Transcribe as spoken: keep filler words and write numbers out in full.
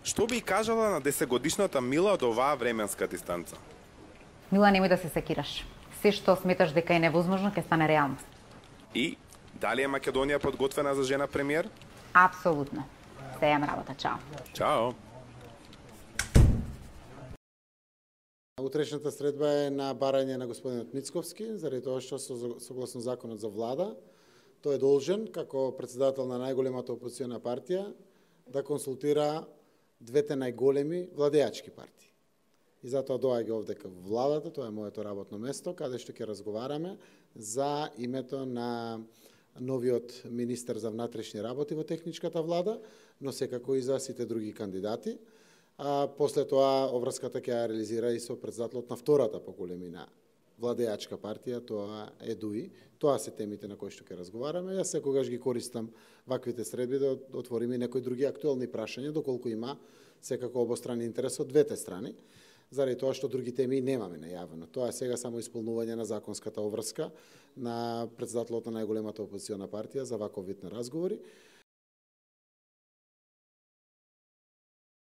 Што би кажала на десетгодишната Мила од оваа временска дистанца? Мила, немој да се секираш. Се што сметаш дека е невозможно, ќе стане реалност. И дали е Македонија подготвена за жена премиер? Апсолутно. Се јам работа. Чао. Чао. Утрешната средба е на барање на господинот Мицковски, заради тоа што согласно законот за влада, тој е должен, како председател на најголемата опозициона партија, да консултира двете најголеми владеачки партии. И затоа доаѓа овде кај владата, тоа е моето работно место, каде што ќе разговараме за името на новиот министер за внатрешни работи во техничката влада, но секако и за сите други кандидати. А после тоа обврската ќе ја реализира и со председателот на втората по големина владеачка партија, тоа е ДУИ. Тоа се темите на кои што ќе разговараме. Јас секогаш ги користам ваквите средби да отвориме некои други актуелни прашања, доколку има секако обостранен интерес од двете страни, заради тоа што други теми немаме најавено. Тоа е сега само исполнување на законската обврска на председателот на најголемата опозициона партија за ваков вид на разговори.